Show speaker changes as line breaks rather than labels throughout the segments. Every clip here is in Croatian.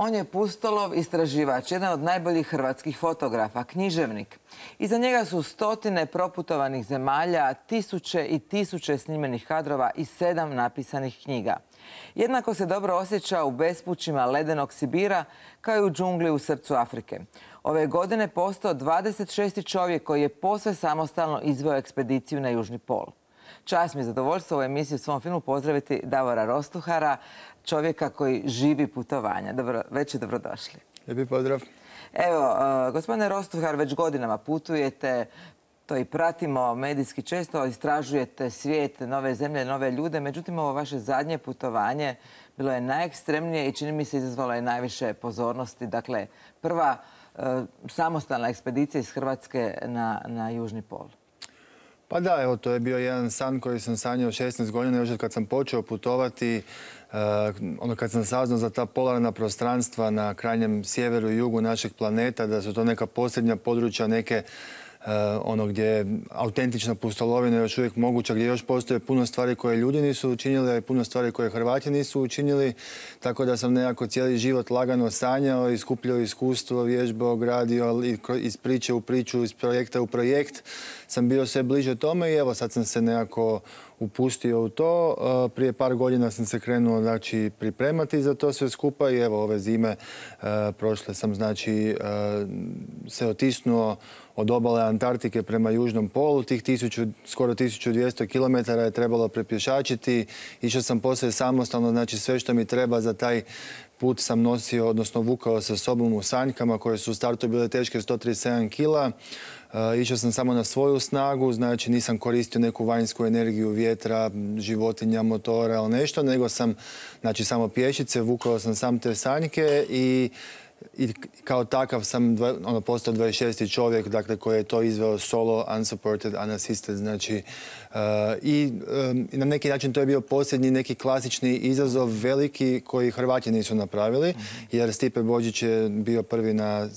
On je pustolov, istraživač, jedan od najboljih hrvatskih fotografa, književnik. Iza njega su stotine proputovanih zemalja, tisuće i tisuće snimljenih kadrova i 7 napisanih knjiga. Jednako se dobro osjeća u bespućima ledenog Sibira kao i u džungli u srcu Afrike. Ove godine postao 26. čovjek koji je posve samostalno izveo ekspediciju na Južni pol. Čast mi je zadovoljstvo u emisiji u svom filmu pozdraviti Davora Rostuhara, čovjeka koji živi putovanja. Već je dobrodošli.
Lijepi pozdrav.
Evo, gospodine Rostuhar, već godinama putujete, to i pratimo medijski često, istražujete svijet, nove zemlje, nove ljude. Međutim, ovo vaše zadnje putovanje bilo je najekstremnije i čini mi se izazvalo je najviše pozornosti. Dakle, prva samostalna ekspedicija iz Hrvatske na Južni pol.
Pa da, evo, to je bio jedan san koji sam sanjao 16 godina, još kad sam počeo putovati, kad sam saznao za ta polarna prostranstva na krajnjem sjeveru i jugu našeg planeta, da su to neka posljednja područja, neke gdje je autentična pustolovina još uvijek moguća, gdje još postoje puno stvari koje ljudi nisu učinili, a i puno stvari koje Hrvati nisu učinili. Tako da sam nekako cijeli život lagano sanjao i skupljao iskustvo, vježbao, gradio iz priče u priču, iz projekta u projekt. Sam bio sve bliže tome i evo sad sam se nekako upustio u to. Prije par godina sam se krenuo pripremati za to sve skupa i evo ove zime prošle sam se otisnuo od obale Antarktike prema Južnom polu. Tih skoro 1200 km je trebalo prepješačiti. Išao sam poslije samostalno, sve što mi treba za taj put sam nosio, odnosno vukao sa sobom u sanjkama koje su u startu bile teške 137 kila. Išao sam samo na svoju snagu, nisam koristio neku vanjsku energiju vjetra, životinja, motora ili nešto, nego sam samo pješice, vukao sam sam te sanjke i kao takav sam postao 26. čovjek, dakle, koji je to izveo solo, unsupported, unassisted, i na neki način to je bio posljednji neki klasični izazov veliki koji Hrvati nisu napravili, jer Stipe Božić je bio prvi na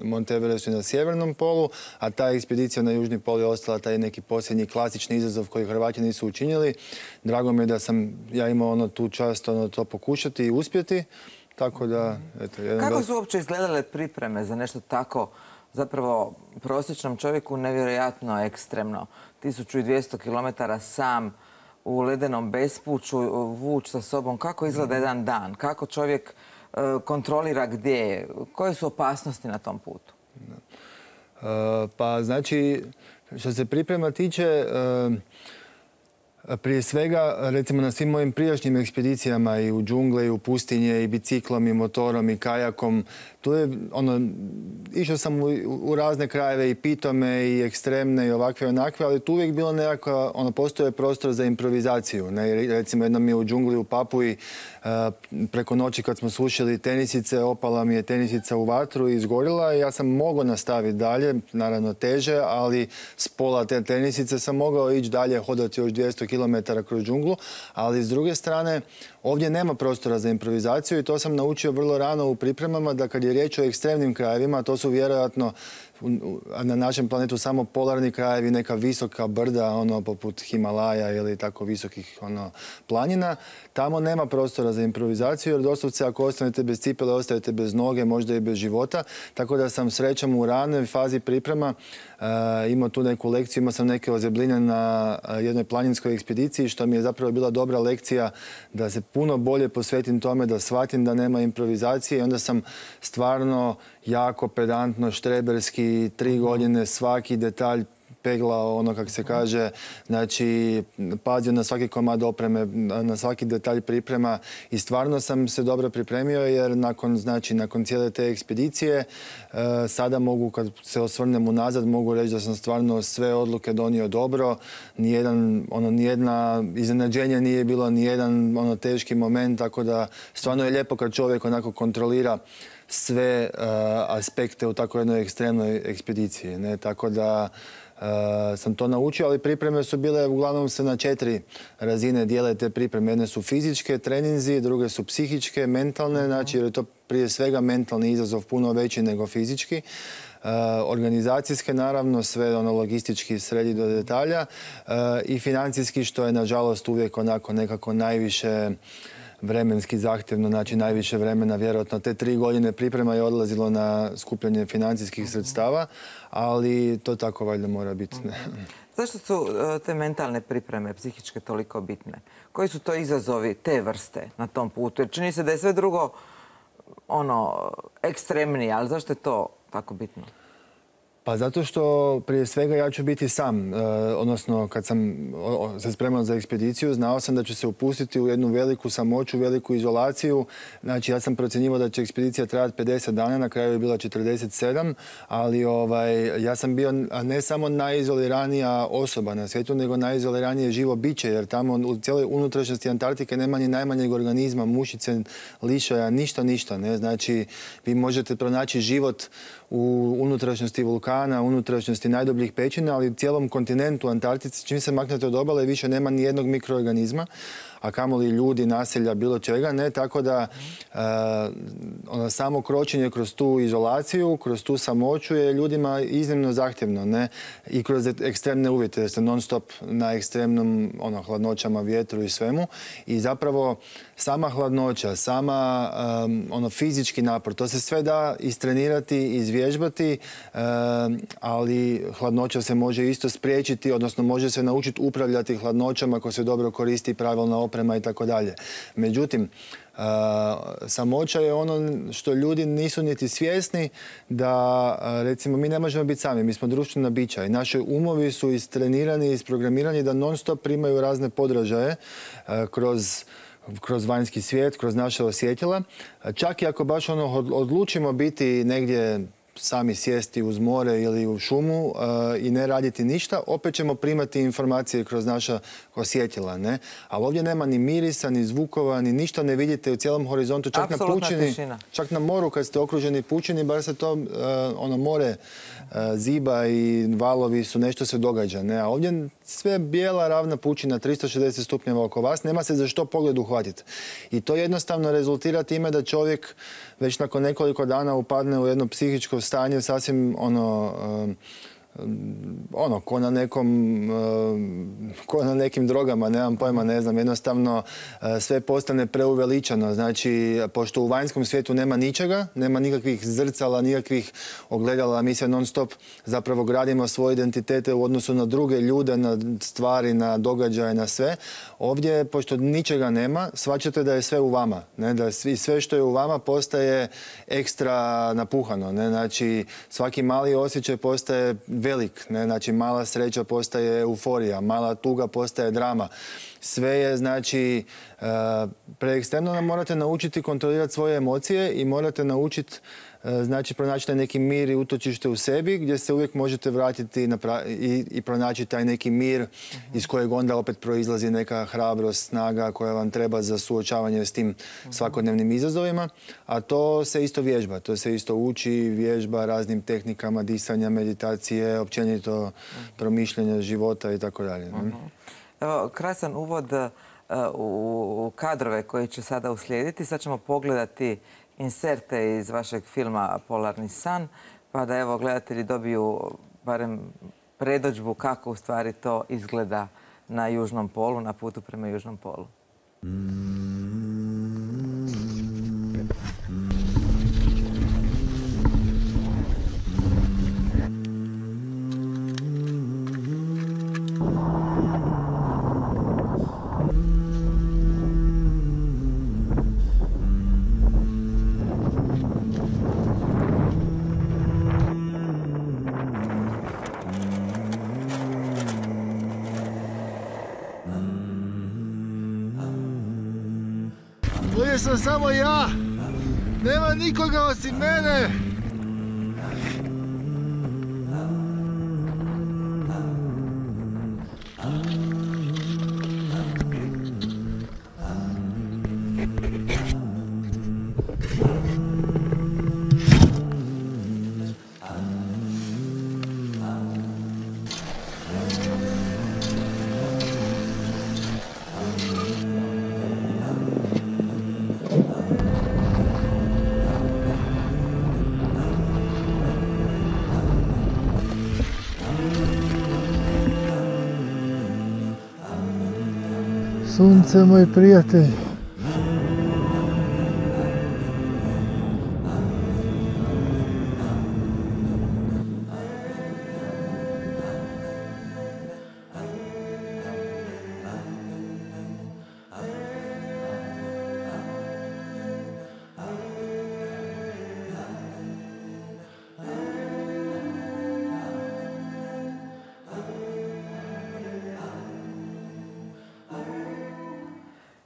Monte Everestu i na Sjevernom polu, a ta ekspedicija na Južni pol je ostala taj neki posljednji klasični izazov koji Hrvati nisu učinili. Drago mi je da sam ja imao tu čast to pokušati i uspjeti. Tako da, eto,
kako su uopće izgledale pripreme za nešto tako, zapravo prosječnom čovjeku nevjerojatno ekstremno? 1200 km sam u ledenom bespuću, vuč sa sobom. Kako izgleda jedan dan? Kako čovjek kontrolira gdje je? Koje su opasnosti na tom putu?
Pa što se priprema tiče, prije svega, recimo na svim mojim prijašnjim ekspedicijama i u džungle, i u pustinje, i biciklom, i motorom, i kajakom, tu je, išao sam u razne krajeve i pitome, i ekstremne, i ovakve i onakve, ali tu uvijek bilo nekako, postoje prostor za improvizaciju. Recimo, jednom je u džungli u Papuji, preko noći kad smo sušili tenisice, opala mi je tenisica u vatru i izgorila i ja sam mogao nastaviti dalje, naravno teže, ali s pola te tenisice sam mogao ići dalje, hodati još 200 km kroz džunglu, ali s druge strane ovdje nema prostora za improvizaciju i to sam naučio vrlo rano u pripremama, da kad je riječ o ekstremnim krajevima, to su vjerojatno na našem planetu samo polarni krajevi, neka visoka brda, poput Himalaja ili tako visokih planina. Tamo nema prostora za improvizaciju, jer doslovce ako ostanete bez cipele, ostajete bez noge, možda i bez života. Tako da sam srećom u ranoj fazi priprema imao tu neku lekciju, imao sam neke ozebline na jednoj planinskoj ekspediciji, što mi je zapravo bila dobra lekcija da se puno bolje posvetim tome, da shvatim da nema improvizacije i onda sam stvarno jako pedantno, štreberski, 3 godine svaki detalj peglao, kako se kaže, pazio na svaki komad opreme, na svaki detalj priprema i stvarno sam se dobro pripremio jer nakon cijele te ekspedicije sada mogu, kad se osvrnem unazad, mogu reći da sam stvarno sve odluke donio dobro, nijedna iznenađenja nije bilo, nijedan teški moment, tako da stvarno je lijepo kad čovjek onako kontrolira sve aspekte u tako jednoj ekstremnoj ekspediciji. Tako da sam to naučio, ali pripreme su bile, uglavnom se na 4 razine dijele te pripreme. Jedne su fizičke, treninzi, druge su psihičke, mentalne, jer je to prije svega mentalni izazov puno veći nego fizički. Organizacijske, naravno, sve logistički sredi do detalja i financijski, što je nažalost uvijek onako nekako najviše vremenski zahtjevno, znači najviše vremena, vjerojatno te 3 godine priprema je odlazilo na skupljanje financijskih sredstava, ali to tako valjda mora biti.
Zašto su te mentalne pripreme, psihičke, toliko bitne? Koji su to izazovi te vrste na tom putu? Jer čini se da je sve drugo ekstremnije, ali zašto je to tako bitno?
Pa zato što prije svega ja ću biti sam, odnosno kad sam se spremao za ekspediciju, znao sam da ću se upustiti u jednu veliku samoću, veliku izolaciju. Znači ja sam procjenjivao da će ekspedicija trajati 50 dana, na kraju je bila 47, ali ja sam bio ne samo najizoliranija osoba na svijetu, nego najizoliranije živo biće, jer tamo u cijeloj unutrašnjosti Antarktike nema ni najmanjeg organizma, mušice, lišaja, ništa. Ne? Znači vi možete pronaći život u unutrašnjosti vulkana, unutrašnjosti najdubljih pećina, ali u cijelom kontinentu Antarktici, čim se maknete od obale, više nema ni jednog mikroorganizma, a kamoli ljudi, naselja, bilo čega, ne, tako da samo kročenje kroz tu izolaciju, kroz tu samoću je ljudima iznimno zahtjevno, ne, i kroz ekstremne uvjete, jer ste non stop na ekstremnom hladnoćama, vjetru i svemu, i zapravo sama hladnoća, sama fizički napor, to se sve da istrenirati, izvježbati, ali hladnoća se može isto spriječiti, odnosno može se naučiti upravljati hladnoćama ako se dobro koristi pravilna oprema i tako dalje. Međutim, samoća je ono što ljudi nisu niti svjesni, da recimo mi ne možemo biti sami, mi smo društvena bića i naši umovi su istrenirani i isprogramirani da non stop primaju razne podražaje kroz vanjski svijet, kroz naše osjetila. Čak i ako baš odlučimo biti negdje sami sjesti uz more ili u šumu i ne raditi ništa, opet ćemo primati informacije kroz naša osjetila, ne? Ali ovdje nema ni mirisa, ni zvukova, ni ništa ne vidite u cijelom horizontu, čak na pučini, čak na moru kad ste okruženi pučini, bar se to more ziba i valovi su, nešto se događa, ne? A ovdje sve bijela ravna pučina, 360 stupnjeva oko vas, nema se za što pogled uhvatiti. I to jednostavno rezultira time da čovjek već nakon nekoliko dana upadne u jedno psihičko stanje sasvim ko na nekim drogama, nemam pojma, ne znam, jednostavno sve postane preuveličano. Znači, pošto u vanjskom svijetu nema ničega, nema nikakvih zrcala, nikakvih ogledala, mi se non stop zapravo gradimo svoje identitete u odnosu na druge ljude, na stvari, na događaje, na sve. Ovdje, pošto ničega nema, shvaćate da je sve u vama, ne? Da sve što je u vama postaje ekstra napuhano, ne? Znači, svaki mali osjećaj postaje velik, ne? Znači mala sreća postaje euforija, mala tuga postaje drama. Sve je, znači, preekstremno nam morate naučiti kontrolirati svoje emocije i morate naučiti, znači, pronaći taj neki mir i utočište u sebi gdje se uvijek možete vratiti i pronaći taj neki mir iz kojeg onda opet proizlazi neka hrabrost, snaga koja vam treba za suočavanje s tim svakodnevnim izazovima. A to se isto vježba, to se isto uči, vježba raznim tehnikama disanja, meditacije, općenito promišljanja života i tako dalje.
Evo, krasan uvod u kadrove koji će sada uslijediti. Sad ćemo pogledati inserte iz vašeg filma Polarni san, pa da evo gledatelji dobiju barem predođbu kako u stvari to izgleda na Južnom polu, na putu prema Južnom polu.
Ovdje sam samo ja, nema nikoga osim mene. Sunce, moj prijatelj.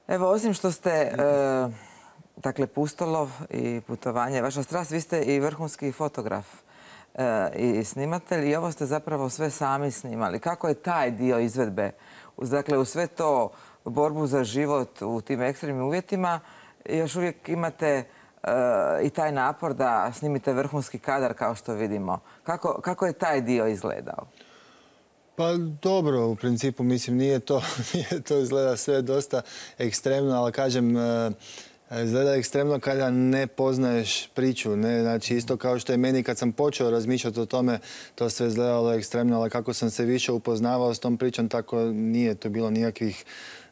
Evo, osim što ste, dakle, pustolov i putovanje, vaša strast, vi ste i vrhunski fotograf i snimatelj i ovo ste zapravo sve sami snimali. Kako je taj dio izvedbe, dakle, u sve to borbu za život u tim ekstremnim uvjetima, još uvijek imate i taj napor da snimite vrhunski kadar kao što vidimo. Kako je taj dio izgledao?
Pa dobro, u principu mislim nije to izgleda sve dosta ekstremno, ali kažem, izgleda ekstremno kada ne poznaješ priču. Ne? Znači isto kao što je meni kad sam počeo razmišljati o tome, to sve izgledalo ekstremno, ali kako sam se više upoznavao s tom pričom, tako nije to bilo nikakvih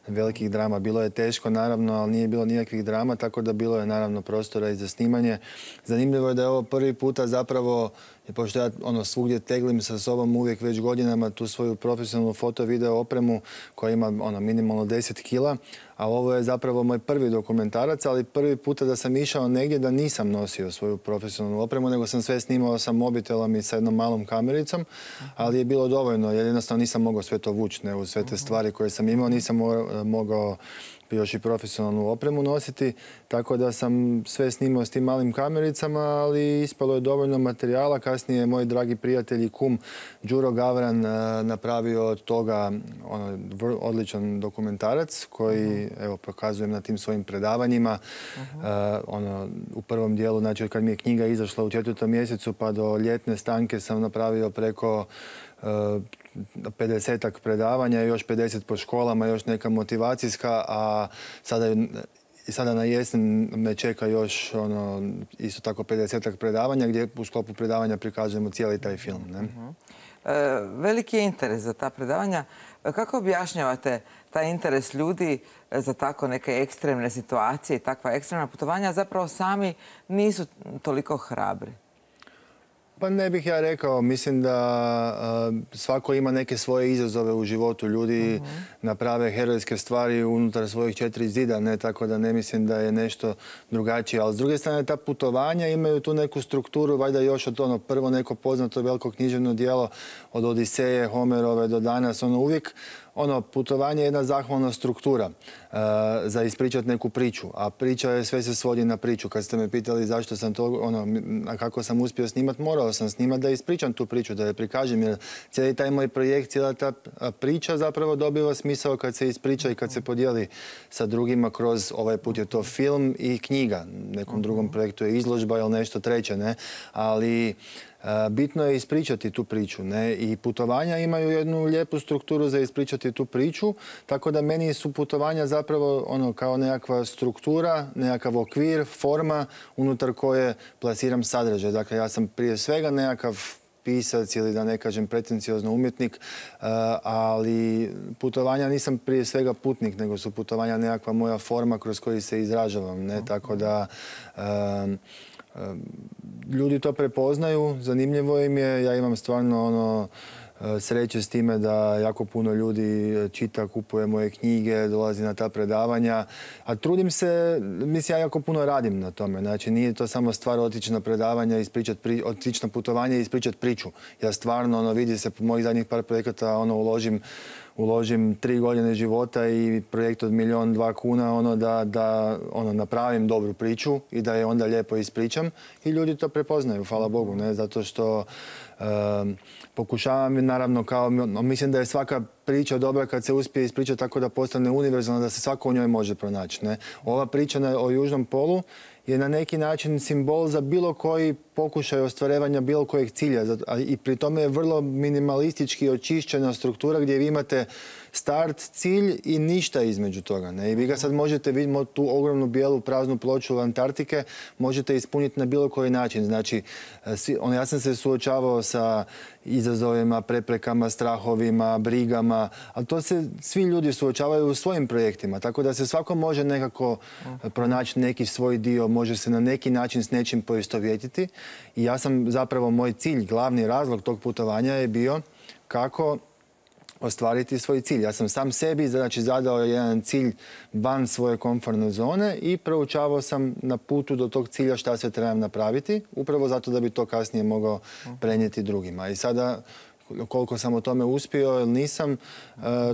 velikih drama. Bilo je teško, naravno, ali nije bilo nikakvih drama, tako da bilo je naravno prostora i za snimanje. Zanimljivo je da je ovo prvi puta zapravo, pošto ja svugdje teglim sa sobom uvijek već godinama tu svoju profesionalnu foto-video opremu koja ima minimalno 10 kila, a ovo je zapravo moj prvi dokumentarac, ali prvi puta da sam išao negdje da nisam nosio svoju profesionalnu opremu, nego sam sve snimao sa mobitelom i sa jednom malom kamericom, ali je bilo dovoljno jer jednostavno nisam mogao sve to vući, uz sve te stvari koje sam imao, nisam mogao još i profesionalnu opremu nositi, tako da sam sve snimao s tim malim kamericama, ali ispalo je dovoljno materijala. Kasnije je moj dragi prijatelj i kum Đuro Gavran napravio od toga odličan dokumentarac koji evo pokazujem na tim svojim predavanjima. U prvom dijelu, znači kad mi je knjiga izašla u 4. mjesecu pa do ljetne stanke sam napravio preko 50-ak predavanja, još 50 po školama, još neka motivacijska, a sada na jesen me čeka još isto tako 50-ak predavanja gdje u sklopu predavanja prikazujemo cijeli taj film. Ne?
Veliki je interes za ta predavanja. Kako objašnjavate taj interes ljudi za tako neke ekstremne situacije i takva ekstremna putovanja, zapravo sami nisu toliko hrabri?
Pa ne bih ja rekao. Mislim da svako ima neke svoje izazove u životu. Ljudi naprave herojske stvari unutar svojih 4 zida, ne, tako da ne mislim da je nešto drugačije. Ali s druge strane, ta putovanja imaju tu neku strukturu, valjda još od prvo neko poznato veliko književno djelo od Odiseje, Homerove do danas, uvijek putovanje je jedna zahvalna struktura za ispričati neku priču, a priča je sve se svodi na priču. Kad ste me pitali zašto sam to, kako sam uspio snimati, morao sam snimati da ispričam tu priču, da je prikažem, jer cijeli taj moj projekt, cijela ta priča zapravo dobiva smisao kad se ispriča i kad se podijeli sa drugima kroz, ovaj put je to film i knjiga, nekom drugom projektu je izložba ili nešto treće, ne, ali bitno je ispričati tu priču, ne? I putovanja imaju jednu lijepu strukturu za ispričati tu priču, tako da meni su putovanja zapravo kao nekakva struktura, nekakav okvir, forma unutar koje plasiram sadržaj. Dakle, ja sam prije svega nekakav pisac ili da ne kažem pretenciozno umjetnik, ali putovanja nisam prije svega putnik, nego su putovanja nekakva moja forma kroz koju se izražavam, ne? Tako da ljudi to prepoznaju, zanimljivo im je, ja imam stvarno sreće s time da jako puno ljudi čita, kupuje moje knjige, dolazi na ta predavanja, a trudim se, mislim ja jako puno radim na tome, znači nije to samo stvar otići na predavanja, otići na putovanje i ispričati priču. Ja stvarno, vidi se po mojih zadnjih par projekata, uložim 3 godine života i projekt od 1.200.000 kuna da napravim dobru priču i da je onda lijepo ispričam i ljudi to prepoznaju, hvala Bogu, ne, zato što pokušavam naravno mislim da je svaka priča dobra kad se uspije ispričati tako da postane univerzalna, da se svako u njoj može pronaći, ne. Ova priča o Južnom polu je na neki način simbol za bilo koji pokušaj ostvarivanja bilo kojeg cilja. I pri tome je vrlo minimalistički očišćena struktura gdje vi imate start, cilj i ništa između toga. Ne? I vi ga sad možete vidjeti tu ogromnu bijelu praznu ploču Antarktike, možete ispuniti na bilo koji način. Znači, ja sam se suočavao sa izazovima, preprekama, strahovima, brigama, ali to se svi ljudi suočavaju u svojim projektima, tako da se svako može nekako pronaći neki svoj dio, može se na neki način s nečim poistovjetiti. I ja sam zapravo, moj cilj, glavni razlog tog putovanja je bio kako ostvariti svoj cilj. Ja sam sam sebi zadao jedan cilj van svoje komfortne zone i proučavao sam na putu do tog cilja šta sve trebam napraviti, upravo zato da bi to kasnije mogao prenijeti drugima. I sada koliko sam o tome uspio ili nisam,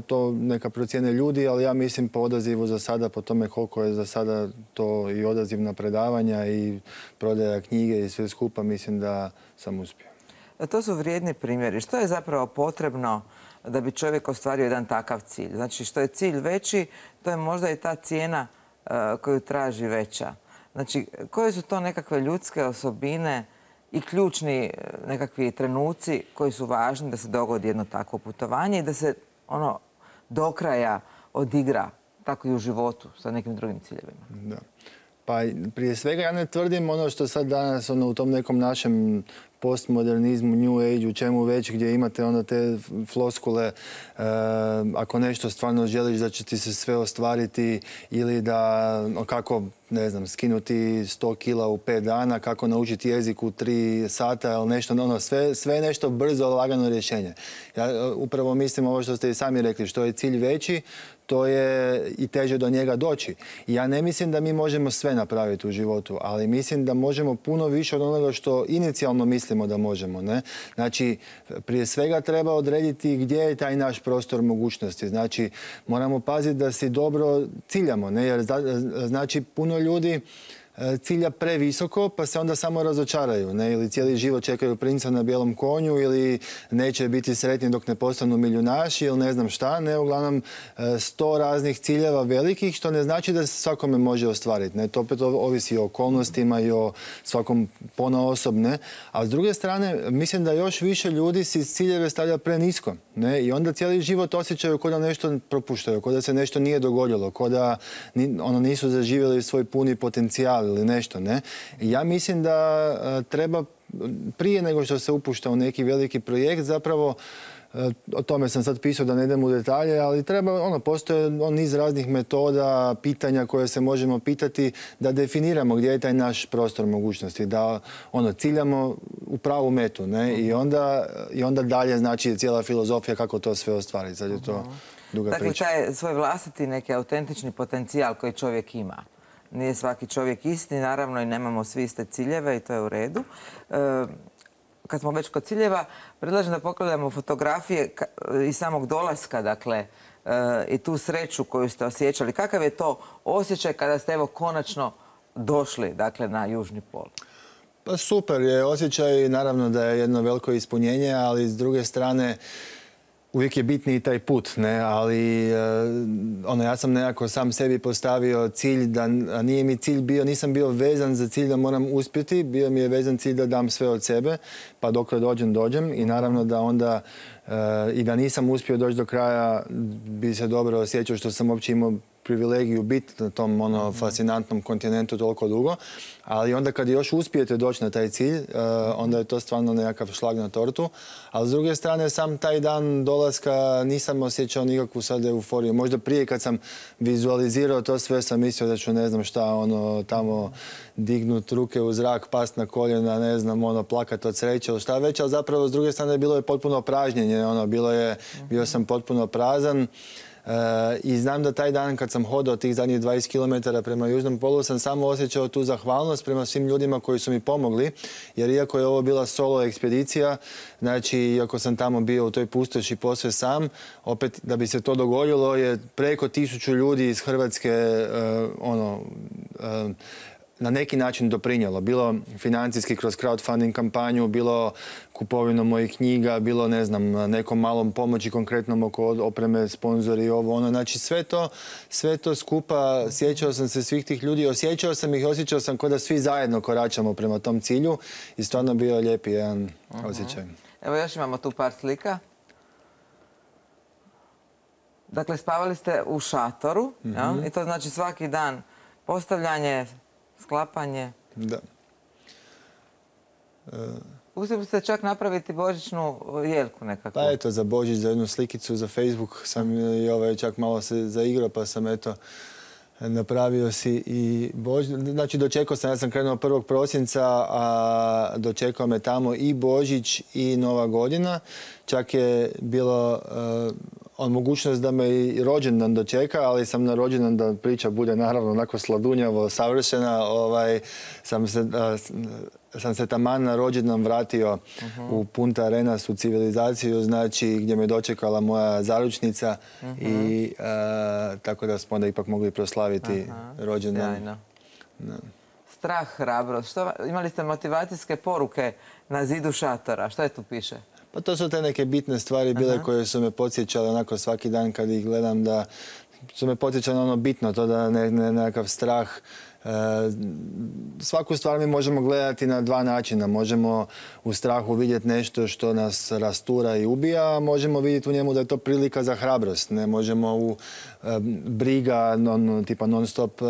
to neka procijene ljudi, ali ja mislim po odazivu za sada, po tome koliko je za sada to i odaziv na predavanja i prodaja knjige i sve skupa, mislim da sam uspio.
To su vrijedni primjeri. Što je zapravo potrebno da bi čovjek ostvario jedan takav cilj? Znači, što je cilj veći, to je možda i ta cijena koju traži veća. Znači, koje su to nekakve ljudske osobine i ključni nekakvi trenuci koji su važni da se dogodi jedno takvo putovanje i da se ono do kraja odigra, tako i u životu sa nekim drugim ciljevima?
Da. Pa prije svega ja ne tvrdim ono što sad danas u tom nekom našem postmodernizmu, new age, u čemu već, gdje imate onda te floskule, ako nešto stvarno želiš da će ti se sve ostvariti ili da kako, ne znam, skinuti 100 kila u 5 dana, kako naučiti jezik u 3 sata ili nešto, sve je nešto brzo, lagano rješenje. Ja upravo mislim ovo što ste i sami rekli, što je cilj veći, to je i teže do njega doći. I ja ne mislim da mi možemo sve napraviti u životu, ali mislim da možemo puno više od onoga što inicijalno mislimo da možemo. Ne? Znači, prije svega treba odrediti gdje je taj naš prostor mogućnosti. Znači, moramo paziti da si dobro ciljamo, ne? Jer znači puno ljudi cilja previsoko, pa se onda samo razočaraju, ne? Ili cijeli život čekaju princa na bijelom konju, ili neće biti sretni dok ne postanu milijunaši, ili ne znam šta, ne? Uglavnom 100 raznih ciljeva velikih, što ne znači da se svakome može ostvariti, ne? To opet ovisi o okolnostima i o svakom ponaosob, ne? A s druge strane, mislim da još više ljudi si ciljeve stavlja prenisko, ne? I onda cijeli život osjećaju kao da nešto propuštaju, kao da se nešto nije dogodilo, kao da nisu zaživjeli svoj puni potencijal ili nešto, ne? Ja mislim da treba prije nego što se upušta u neki veliki projekt, zapravo o tome sam sad pisao da ne idem u detalje, ali treba, postoje niz raznih metoda, pitanja koje se možemo pitati da definiramo gdje je taj naš prostor mogućnosti, da ciljamo u pravu metu, ne? I onda dalje znači cijela filozofija kako to sve ostvariti. Sad je to duga priča.
Dakle, taj svoj vlastiti neki autentični potencijal koji čovjek ima. Nije svaki čovjek isti, naravno i nemamo svi iste ciljeve i to je u redu. Kad smo već kod ciljeva, predlažem da pogledamo fotografije iz samog dolaska, dakle, i tu sreću koju ste osjećali. Kakav je to osjećaj kada ste evo konačno došli, dakle, na Južni pol?
Pa super je osjećaj, naravno da je jedno veliko ispunjenje, ali s druge strane uvijek je bitniji taj put, ne? Ali ja sam nekako sam sebi postavio cilj da nije mi cilj bio, nisam bio vezan za cilj da moram uspjeti, bio mi je vezan cilj da dam sve od sebe, pa dok dođem i naravno da onda i da nisam uspio doći do kraja bi se dobro osjećao što sam uopće imao privilegiju biti na tom fascinantnom kontinentu toliko dugo, ali onda kad još uspijete doći na taj cilj, onda je to stvarno nekakav šlag na tortu. Ali s druge strane, sam taj dan dolaska nisam osjećao nikakvu sad euforiju. Možda prije kad sam vizualizirao to sve sam mislio da ću ne znam šta, tamo dignut ruke u zrak, past na koljena, ne znam, plakat od sreće ili šta već, ali zapravo s druge strane bilo je potpuno pražnjenje, bio sam potpuno prazan. I znam da taj dan kad sam hodao tih zadnjih 20 km prema Južnom polu sam samo osjećao tu zahvalnost prema svim ljudima koji su mi pomogli, jer iako je ovo bila solo ekspedicija, znači iako sam tamo bio u toj pustoši posve sam, opet da bi se to dogodilo je preko 1000 ljudi iz Hrvatske na neki način doprinjelo. Bilo financijski kroz crowdfunding kampanju, bilo kupovinom mojih knjiga, bilo ne znam, nekom malom pomoći konkretnom oko opreme, sponzori, Znači sve to skupa, sjećao sam se svih tih ljudi, osjećao sam kao da svi zajedno koračamo prema tom cilju i stvarno bio lijepi jedan osjećaj.
Evo još imamo tu par slika. Dakle, spavali ste u šatoru, i to znači svaki dan postavljanje, sklapanje.
Da.
Uspjeli ste čak napraviti božićnu jelku nekako.
Pa eto, za Božić, za jednu slikicu, za Facebook sam i čak malo se zaigrao, pa sam napravio si i Božić. Znači, dočekao sam, ja sam krenuo 1. prosinca, a dočekao me tamo i Božić i Nova godina. Čak je bilo mogućnost da me i rođendan dočeka, ali sam na rođendan, da priča bude naravno onako sladunjavo, savršena, sam se sam se taman na rođendan vratio u Punta Arenas, u civilizaciju, znači gdje me dočekala moja zaručnica i tako da smo onda ipak mogli proslaviti rođendan.
Sjajno. Strah, hrabrost. Imali ste motivacijske poruke na zidu šatora. Što je tu piše?
Pa to su te neke bitne stvari bile koje su me podsjećale onako svaki dan kad ih gledam, da su me podsjećale ono bitno, to da nekakav strah. Svaku stvar mi možemo gledati na dva načina. Možemo u strahu vidjeti nešto što nas rastura i ubija, a možemo vidjeti u njemu da je to prilika za hrabrost. Ne možemo u briga, tipa non stop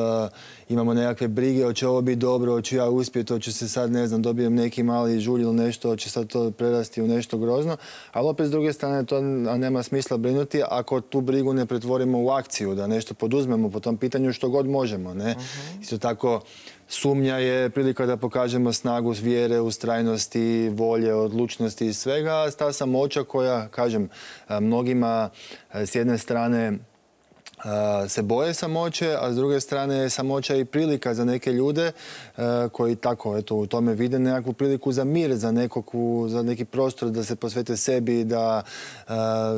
imamo nekakve brige, hoće ovo biti dobro, hoću ja uspjeti, hoću se sad, ne znam, dobijem neki mali žulj ili nešto, hoće sad to prerasti u nešto grozno. Ali opet s druge strane to nema smisla brinuti ako tu brigu ne pretvorimo u akciju, da nešto poduzmemo po tom pitanju što god možemo. Ne? Isto tako, sumnja je prilika da pokažemo snagu vjere, ustrajnosti, volje, odlučnosti i svega. Ta samoća koja, kažem, mnogima s jedne strane se boje samoće, a s druge strane je samoća i prilika za neke ljude koji tako u tome vide nekakvu priliku za mir, za neki prostor da se posvete sebi, da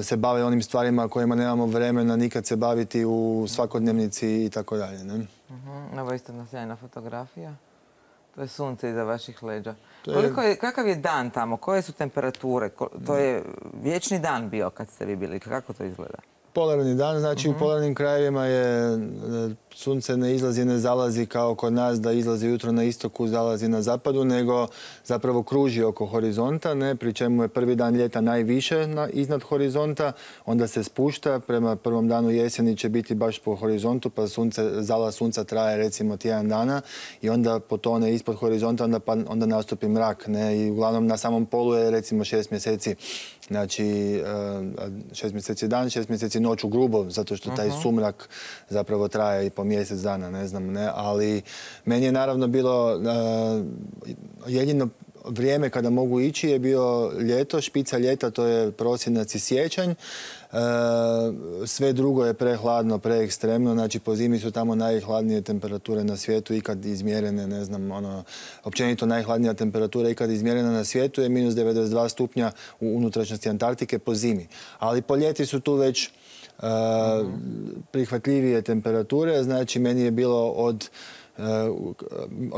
se bave onim stvarima kojima nemamo vremena nikad se baviti u svakodnevnici i tako dalje.
Ovo je isto sjajna fotografija. To je sunce iza vaših leđa. Kakav je dan tamo? Koje su temperature? To je vječni dan bio kad ste vi bili. Kako to izgleda?
Polarni dan, znači u polarnim krajevima je sunce ne izlazi, ne zalazi kao kod nas da izlazi jutro na istoku, zalazi na zapadu, nego zapravo kruži oko horizonta, pri čemu je prvi dan ljeta najviše iznad horizonta, onda se spušta, prema prvom danu jeseni će biti baš po horizontu, pa zalaz sunca traje recimo tjedan dana i onda potone ispod horizonta, onda nastupi mrak. I uglavnom na samom polu je recimo 6 mjeseci, znači 6 mjeseci dan, 6 mjeseci noć u grubo, zato što taj sumrak zapravo traje i po mjesec dana, ne znam, ali meni je naravno bilo jedino vrijeme kada mogu ići je bio ljeto, špica ljeta, to je prosinac i siječanj. Sve drugo je prehladno, preekstremno, znači po zimi su tamo najhladnije temperature na svijetu ikad izmjerene, ne znam, općenito najhladnija temperatura ikad izmjerena na svijetu je minus 92 stupnja u unutrašnjosti Antarktike po zimi. Ali po ljeti su tu već prihvatljivije temperature, znači meni je bilo od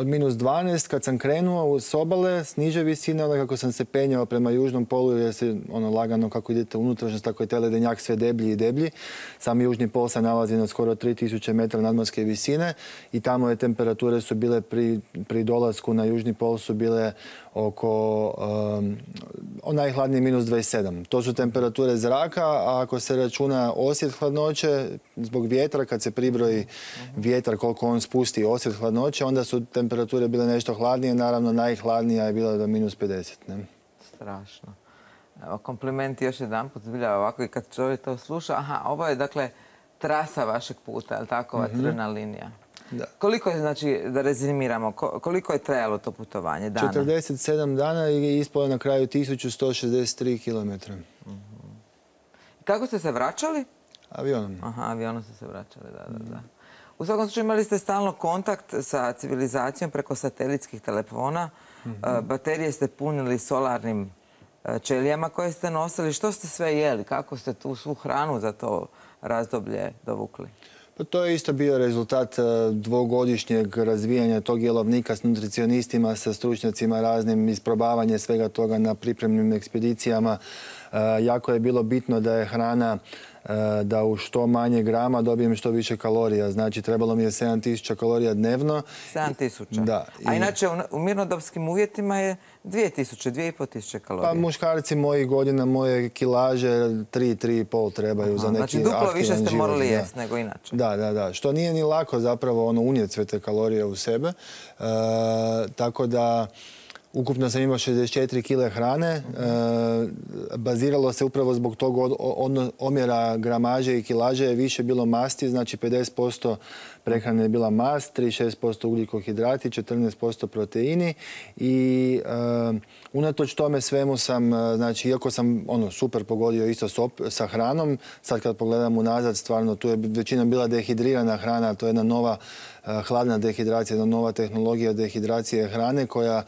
minus 12 kad sam krenuo s obale, s niže visine, onda kako sam se penjao prema južnom polu jer se lagano kako idete unutrašnjost, tako je taj ledenjak sve deblji i deblji. Sam južni pol se nalazi na skoro 3000 metara nadmorske visine i tamo je temperature su bile pri dolasku na južni pol su bile oko najhladnije minus 27. To su temperature zraka, a ako se računa osjet hladnoće, zbog vjetra, kad se pribroji vjetar koliko on spusti osjet hladnoće, onda su temperature bile nešto hladnije, naravno najhladnija je bila do minus 50. Ne?
Strašno. Evo, komplimenti još jedan put, zbilja ovako i kad čovjek to sluša. Ovo je dakle trasa vašeg puta, je li tako, ova crvena linija?
Da.
Koliko je, znači, da rezimiramo, koliko je trajalo to putovanje dana?
47 dana i ispalo na kraju 1163 km.
Kako ste se vraćali?
Avionom.
Avionom ste se vraćali, da. U svakom slučaju imali ste stalno kontakt sa civilizacijom preko satelitskih telefona. Baterije ste punili solarnim ćelijama koje ste nosili. Što ste sve jeli? Kako ste tu svu hranu za to razdoblje dovukli?
Pa to je isto bio rezultat dvogodišnjeg razvijanja tog jelovnika s nutricionistima, sa stručnjacima raznim, isprobavanje svega toga na pripremnim ekspedicijama. Jako je bilo bitno da je hrana da u što manje grama dobijem što više kalorija. Znači, trebalo mi je 7000 kalorija dnevno.
7000?
Da.
A inače, u mirnodopskim uvjetima je 2000, 2500 kalorija.
Pa muškarci mojih godina, moje kilaže, 3,5 trebaju za neki aktivan život.
Znači, duplo više ste morali jesti nego inače.
Da. Što nije ni lako zapravo unijeti sve te kalorije u sebe. Tako da ukupno sam imao 64 kile hrane. Baziralo se upravo zbog tog omjera gramaže i kilaže je više bilo masti, znači 50% prehrane je bila mast, 36% ugljikohidrati, 14% proteini i unatoč tome svemu sam, znači iako sam super pogodio isto sa hranom, sad kad pogledam unazad, stvarno tu je većina bila dehidrirana hrana, to je jedna nova hladna dehidracija, jedna nova tehnologija dehidracije hrane koja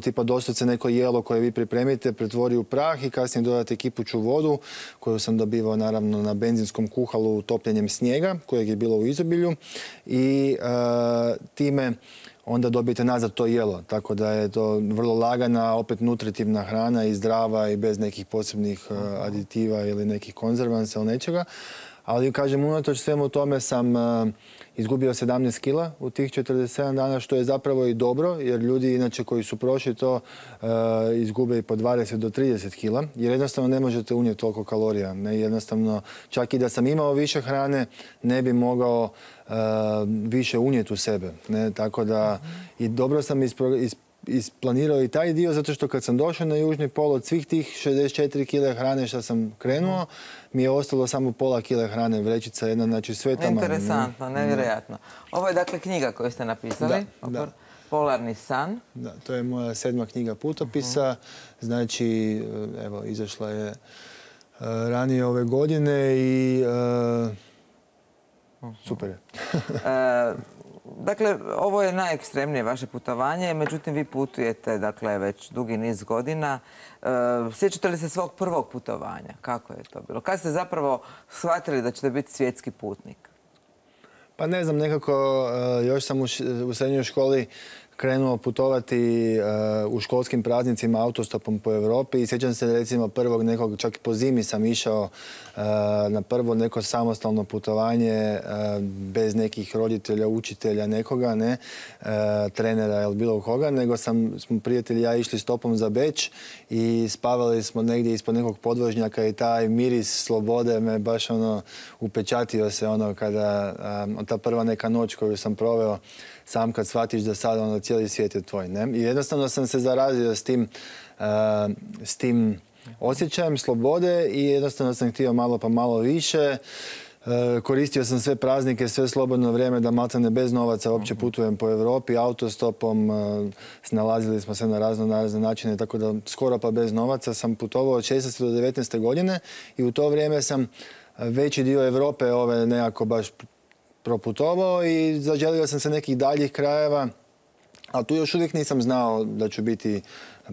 tipa doslovce neko jelo koje vi pripremite pretvori u prah i kasnije dodate kipuću vodu koju sam dobivao naravno na benzinskom kuhalu topljenjem snijega kojeg je bilo u izobilju i time onda dobijete nazad to jelo. Tako da je to vrlo lagana, opet nutritivna hrana i zdrava i bez nekih posebnih aditiva ili nekih konzervansa ili nečega. Ali, kažem, unatoč svemu tome sam izgubio 17 kila u tih 47 dana, što je zapravo i dobro, jer ljudi inače koji su prošli to izgube i po 20 do 30 kila, jer jednostavno ne možete unijeti toliko kalorija. Jednostavno, čak i da sam imao više hrane, ne bi mogao više unijeti u sebe. Tako da i dobro sam isplanirao i taj dio, zato što kad sam došao na južni pol od svih tih 64 kile hrane što sam krenuo, mi je ostalo samo pola kile hrane, vrećica jedna, znači sve tamo.
Interesantno, nevjerojatno. Ovo je dakle knjiga koju ste napisali, Polarni san.
Da, to je moja 7. knjiga putopisa, znači, evo, izašla je ranije ove godine i super je.
Dakle, ovo je najekstremnije vaše putovanje, međutim vi putujete dakle, već dugi niz godina. Sjećate li se svog prvog putovanja? Kako je to bilo? Kad ste zapravo shvatili da ćete biti svjetski putnik?
Pa ne znam, nekako još sam u srednjoj školi krenuo putovati u školskim praznicima autostopom po Europi i sjećam se recimo prvog nekog, čak i po zimi sam išao na prvo neko samostalno putovanje bez nekih roditelja, učitelja, nekoga, ne, trenera ili bilo koga, nego smo prijatelji i ja išli stopom za Beč i spavali smo negdje ispod nekog podvožnjaka i taj miris slobode me baš upečatio se kada ta prva neka noć koju sam proveo sam kad shvatiš da sada cijeli svijet je tvoj. Ne? I jednostavno sam se zarazio s tim osjećajem slobode i jednostavno sam htio malo pa malo više. Koristio sam sve praznike, sve slobodno vrijeme da maltene bez novaca uopće putujem po Europi, autostopom, snalazili smo se na razne načine, tako da skoro pa bez novaca sam putovao od 16. do 19. godine i u to vrijeme sam veći dio Europe nekako baš proputovao i zaželio sam se nekih daljih krajeva, a tu još uvijek nisam znao da ću biti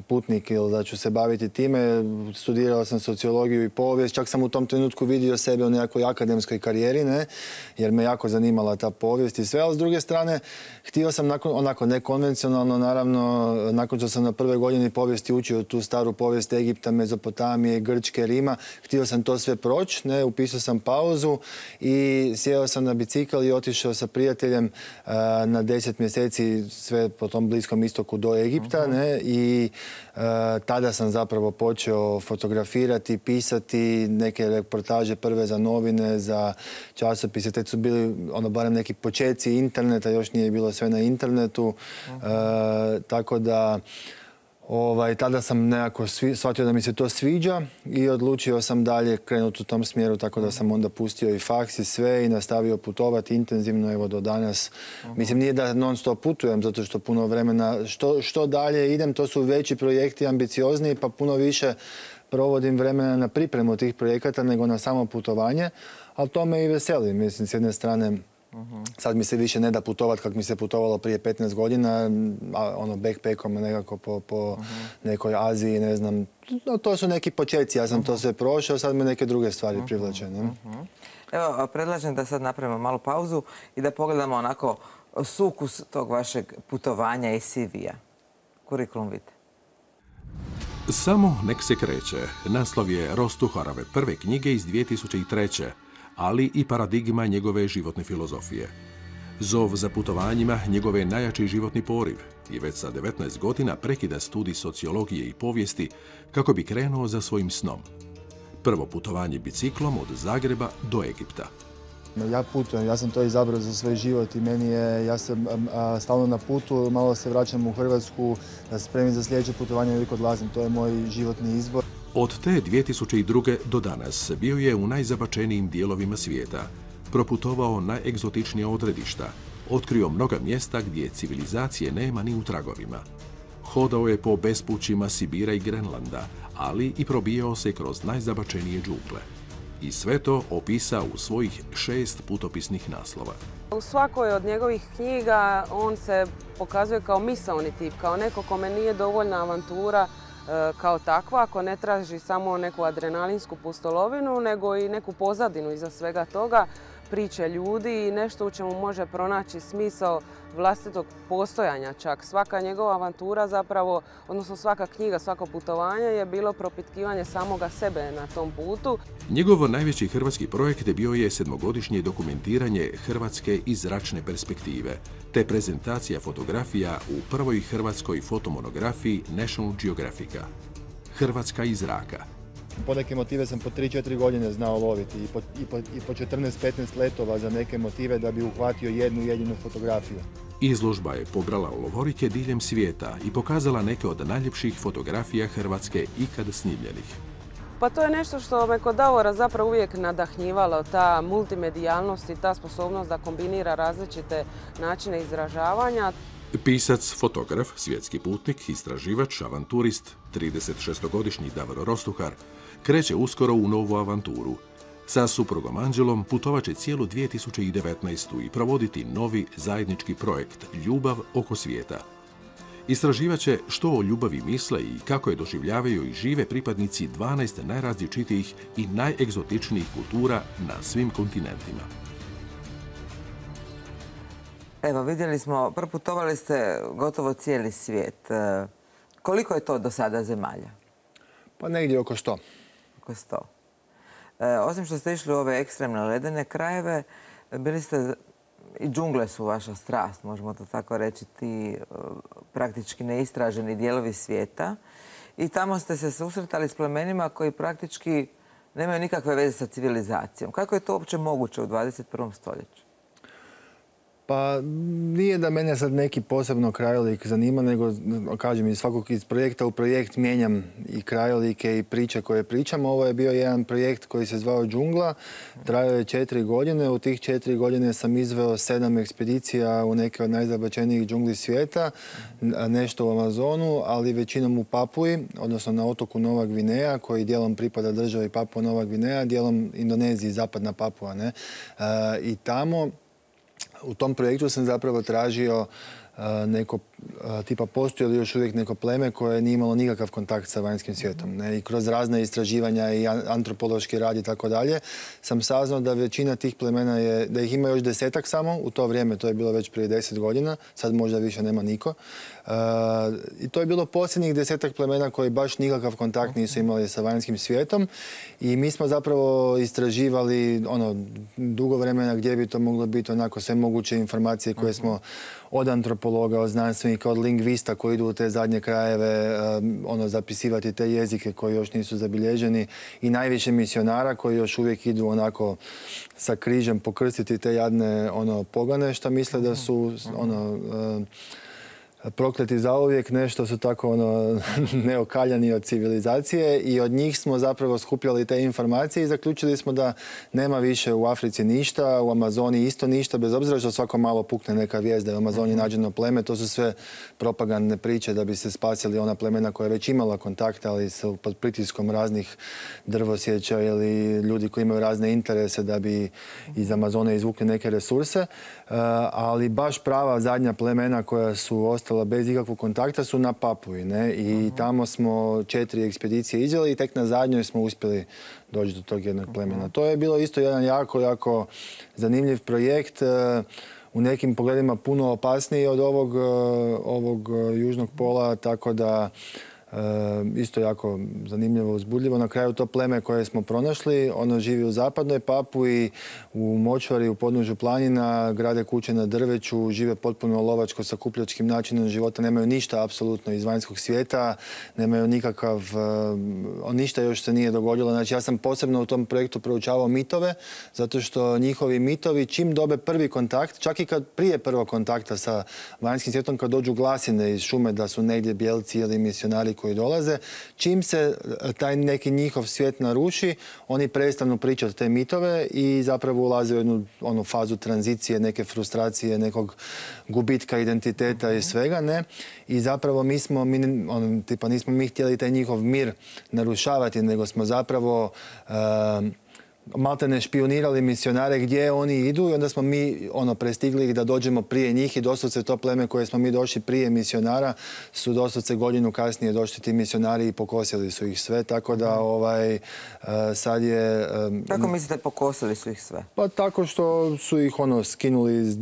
putnik ili da ću se baviti time. Studirao sam sociologiju i povijest, čak sam u tom trenutku vidio sebe u nekakvoj akademskoj karijeri, jer me jako zanimala ta povijest i sve, ali s druge strane htio sam onako nekonvencionalno, naravno, nakon što sam na prvoj godini povijesti učio tu staru povijest Egipta, Mezopotamije, Grčke, Rima, htio sam to sve proći, upisao sam pauzu i sjeo sam na bicikl i otišao sa prijateljem na 10 mjeseci sve po tom Bliskom istoku do Egipta, i tada sam zapravo počeo fotografirati, pisati neke reportaže prve za novine, za časopise. Te su bili barem neki počeci interneta, još nije bilo sve na internetu. Tako da tada sam nekako shvatio da mi se to sviđa i odlučio sam dalje krenuti u tom smjeru, tako da sam onda pustio i faks i sve i nastavio putovati intenzivno, evo do danas. Mislim, nije da non stop putujem, zato što puno vremena, što dalje idem, to su veći projekti, ambiciozniji, pa puno više provodim vremena na pripremu tih projekata nego na samo putovanje, ali to me i veseli. Mislim, s jedne strane, sad mi se više ne da putovati kako mi se putovalo prije 15 godina, backpackom nekako po nekoj Aziji, ne znam. No, to su neki početci, ja sam to sve prošao, sad me neke druge stvari privlače.
Evo, predlažem da sad napravimo malu pauzu i da pogledamo onako sukus tog vašeg putovanja i CV-a. Kurikulum vitae.
Samo nek se kreće. Naslov je Rostuharove prve knjige iz 2003. ali i paradigma njegove životne filozofije. Zov za putovanjima njegove najjači životni poriv i već sa 19 godina prekida studij sociologije i povijesti kako bi krenuo za svojim snom. Prvo putovanje biciklom od Zagreba do Egipta.
Ja putujem, ja sam to izabrao za svoj život i ja sam stalno na putu, malo se vraćam u Hrvatsku, da se spremim za sljedeće putovanje, uvijek odlazim, to je moj životni izbor.
Od te 2002. do danas bio je u najzabačenijim dijelovima svijeta, proputovao najegzotičnija odredišta, otkrio mnoga mjesta gdje civilizacije nema ni u tragovima. Hodao je po bespućima Sibira i Grenlanda, ali i probijao se kroz najzabačenije džungle. i sve to opisao u svojih 6 putopisnih naslova.
U svakoj od njegovih knjiga on se pokazuje kao misaoni tip, kao neko kome nije dovoljna avantura kao takva, ako ne traži samo neku adrenalinsku pustolovinu, nego i neku pozadinu iza svega toga, priče ljudi i nešto u čemu može pronaći smisao vlastitog postojanja čak. Svaka njegova avantura zapravo, odnosno svaka knjiga, svako putovanje je bilo propitkivanje samoga sebe na tom putu.
Njegov najveći hrvatski projekt bio je 7-godišnje dokumentiranje Hrvatske iz zračne perspektive, te prezentacija fotografija u prvoj hrvatskoj fotomonografiji National Geographica. Hrvatska iz zraka.
Po neke motive sam po 3-4 godine znao loviti i po 14-15 letova za neke motive da bi uhvatio jednu jedinu fotografiju.
Izložba je pobrala lovorike diljem svijeta i pokazala neke od najljepših fotografija Hrvatske ikad snimljenih.
Pa to je nešto što me kod Davora zapravo uvijek nadahnjivalo, ta multimedijalnost i ta sposobnost da kombinira različite načine izražavanja.
Pisac, fotograf, svjetski putnik, istraživač, avanturist, 36-godišnji Davor Rostuhar kreće uskoro u novu avanturu. Sa suprugom Anđelom putovat će cijelu 2019. i provoditi novi zajednički projekt Ljubav oko svijeta. Istraživat će što o ljubavi misle i kako je doživljavaju i žive pripadnici 12 najrazličitijih i najegzotičnijih kultura na svim kontinentima.
Evo, vidjeli smo, proputovali ste gotovo cijeli svijet. Koliko je to do sada zemalja?
Pa negdje oko 100.
Oko 100. Osim što ste išli u ove ekstremne ledene krajeve, bili ste, i džungle su vaša strast, možemo to tako reći, ti praktički neistraženi dijelovi svijeta. I tamo ste se susretali s plemenima koji praktički nemaju nikakve veze sa civilizacijom. Kako je to uopće moguće u 21. stoljeću?
Pa nije da mene sad neki posebno krajolik zanima, nego, kažem, iz projekta u projekt mijenjam i krajolike i priče koje pričam. Ovo je bio jedan projekt koji se zvao Džungla. Trajao je 4 godine. U tih 4 godine sam izveo 7 ekspedicija u neke od najzabačenijih džungli svijeta. Nešto u Amazonu, ali većinom u Papuji, odnosno na otoku Nova Gvineja, koji dijelom pripada državi Papua Nova Gvineja, dijelom Indoneziji, zapadna Papua. I tamo, u tom projektu sam zapravo tražio neko, tipa postoji li još uvijek neko pleme koje nije imalo nikakav kontakt sa vanjskim svijetom. I kroz razne istraživanja i antropološki rad i tako dalje sam saznao da većina tih plemena je, da ih ima još 10-ak samo. U to vrijeme, to je bilo već prije 10 godina, sad možda više nema niko. I to je bilo posljednjih 10-ak plemena koji baš nikakav kontakt nisu imali sa vanjskim svijetom. I mi smo zapravo istraživali dugo vremena gdje bi to moglo biti, onako sve moguće informacije koje smo od antropologa, od znanstvenika, od lingvista koji idu u te zadnje krajeve zapisivati te jezike koji još nisu zabilježeni i najviše misionara koji još uvijek idu onako sa križem pokrstiti te jadne pogane što misle da su prokleti zauvijek, nešto su tako neokaljani od civilizacije i od njih smo zapravo skupljali te informacije i zaključili smo da nema više u Africi ništa, u Amazoni isto ništa, bez obzira što svako malo pukne neka vijest da je u Amazoni nađeno pleme. To su sve propagandne priče da bi se spasili ona plemena koja je već imala kontakte, ali su pod pritiskom raznih drvosjeća ili ljudi koji imaju razne interese da bi iz Amazone izvukli neke resurse. Ali baš prava zadnja plemena koja su ostala bez ikakvog kontakta su na Papuji. I tamo smo 4 ekspedicije izveli i tek na zadnjoj smo uspjeli doći do tog jednog plemena. To je bilo isto jedan jako zanimljiv projekt. U nekim pogledima puno opasniji od ovog južnog pola, tako da isto jako zanimljivo, uzbudljivo. Na kraju to pleme koje smo pronašli, ono živi u zapadnoj Papui, u močvari, u podnožju planina, grade kuće na drveću, žive potpuno lovačko sakupljačkim načinom života, nemaju ništa apsolutno iz vanjskog svijeta, nemaju nikakav, ništa još se nije dogodilo. Znači ja sam posebno u tom projektu proučavao mitove, zato što njihovi mitovi čim dobe prvi kontakt, čak i kad prije prvog kontakta sa vanjskim svijetom, kad dođu glasine iz šume da su negdje bijelci ili misionari koji dolaze, čim se taj neki njihov svijet naruši, oni prestanu pričati te mitove i zapravo ulaze u jednu fazu tranzicije, neke frustracije, nekog gubitka identiteta i svega, I zapravo nismo mi htjeli taj njihov mir narušavati, nego smo zapravo maltene špionirali misionare gdje oni idu i onda smo mi prestigli ih da dođemo prije njih i doslovce to pleme koje smo mi došli prije misionara su doslovce godinu kasnije došli ti misionari i pokosili su ih sve, tako da sad je...
Kako mislite pokosili su ih sve?
Pa tako što su ih skinuli,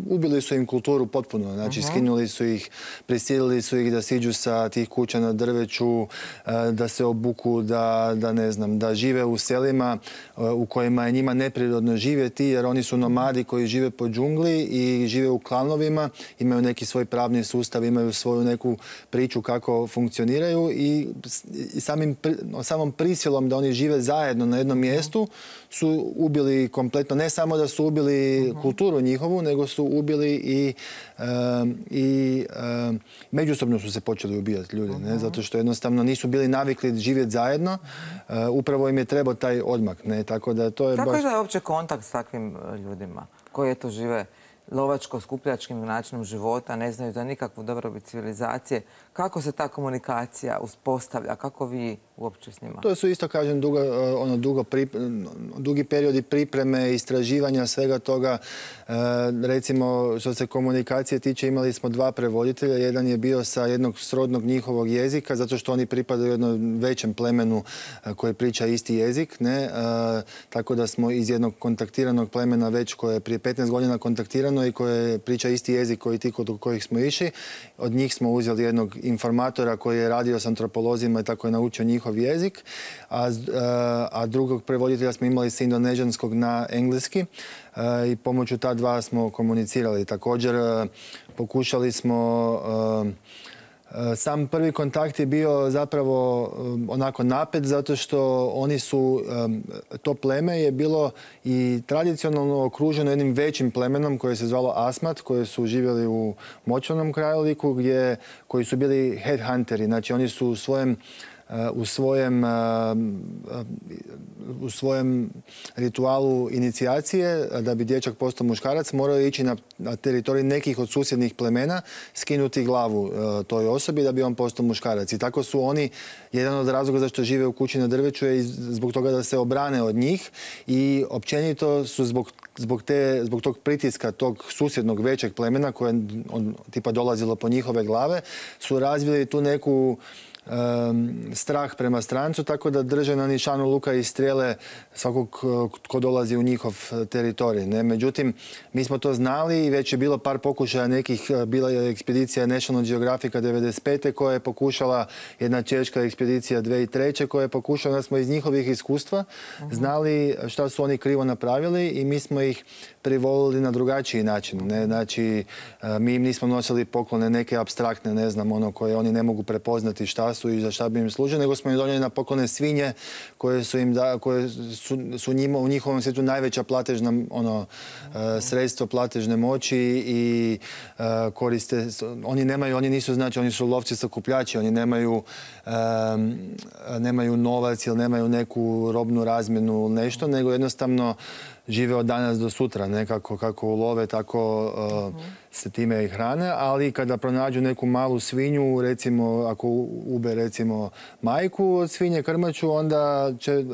ubili su im kulturu potpuno, znači skinuli su ih, prisilili su ih da siđu sa tih kuća na drveću, da se obuku, da ne znam, da žive u selima u kojima je njima neprirodno živjeti, jer oni su nomadi koji žive po džungli i žive u klanovima, imaju neki svoj pravni sustav, imaju svoju neku priču kako funkcioniraju i samom prisilom da oni žive zajedno na jednom mjestu su ubili kompletno, ne samo da su ubili kulturu njihovu, nego su ubili i međusobno su se počeli ubijati ljudi, ne? Zato što jednostavno nisu bili navikli živjeti zajedno, upravo im je trebao taj odmak, ne? Tako da to je
Kako
baš...
je uopće kontakt s takvim ljudima koji eto žive lovačko-skupljačkim načinom života, ne znaju za nikakvu dobrobit civilizacije? Kako se ta komunikacija uspostavlja? Kako vi uopće s njima?
To su isto, kažem, dugi periodi pripreme, istraživanja, svega toga. Recimo, što se komunikacije tiče, imali smo 2 prevoditelja. Jedan je bio sa jednog srodnog njihovog jezika, zato što oni pripadaju jednom većem plemenu koji priča isti jezik, ne? Tako da smo iz jednog kontaktiranog plemena već koje je prije 15 godina kontaktirano i koje priča isti jezik koji ti kod kojih smo išli. Od njih smo uzeli jednog informatora koji je radio s antropolozima i tako je naučio njihov jezik, a drugog prevoditelja smo imali s indonežanskog na engleski i pomoću ta 2 smo komunicirali. Također pokušali smo... Sam prvi kontakt je bio zapravo onako napet, zato što oni su, to pleme je bilo i tradicionalno okruženo jednim većim plemenom koje se zvalo Asmat, koje su živjeli u močvarnom krajoliku, koji su bili headhunteri. Znači oni su u svojem ritualu inicijacije, da bi dječak postao muškarac, morao ići na teritorij nekih od susjednih plemena, skinuti glavu toj osobi da bi on postao muškarac. I tako su oni, jedan od razloga zašto žive u kući na drveću je zbog toga da se obrane od njih i općenito su zbog tog pritiska tog susjednog većeg plemena koje tipa dolazilo po njihove glave, su razvili tu neku strah prema strancu, tako da drže na nišanu luka i strijele svakog ko dolazi u njihov teritorij. Ne? Međutim, mi smo to znali i već je bilo par pokušaja nekih, bila je ekspedicija National Geographica 1995. koja je pokušala, jedna češka ekspedicija 2003. koja je pokušala, da smo iz njihovih iskustva znali šta su oni krivo napravili i mi smo ih privolili na drugačiji način. Ne? Znači, mi im nismo nosili poklone neke apstraktne, ne znam, koje oni ne mogu prepoznati šta su i za šta bi im služili, nego smo im donijeli na poklone svinje koje su u njihovom svijetu najveća platežna sredstvo platežne moći i koriste, oni nisu, znači, oni su lovci sakupljači, oni nemaju novac ili nemaju neku robnu razmjenu nešto, nego jednostavno žive od danas do sutra, nekako kako ulove, tako se time i hrane, ali kada pronađu neku malu svinju, recimo ako ube recimo majku od svinje krmaču, onda će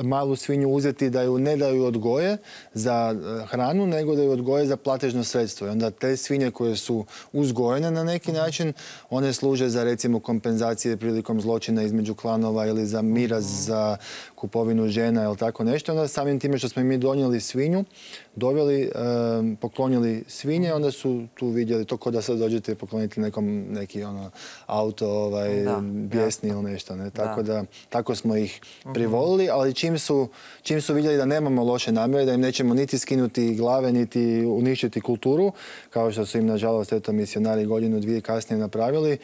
malu svinju uzeti da ju ne daju odgoje za hranu, nego da ju odgoje za platežno sredstvo. I onda te svinje koje su uzgojene na neki način, one služe za recimo kompenzacije prilikom zločina između klanova ili za miraz, za kupovinu žena ili tako nešto. Onda samim time što smo mi donijeli svinju, doveli, poklonili svinje, onda su tu vidjeli to kao da sad dođete i pokloniti nekom neki auto bijesni ili nešto. Ne? Tako smo ih privolili, ali čim su vidjeli da nemamo loše namjere, da im nećemo niti skinuti glave, niti uništiti kulturu, kao što su im nažalost misionari godinu, 2 kasnije napravili,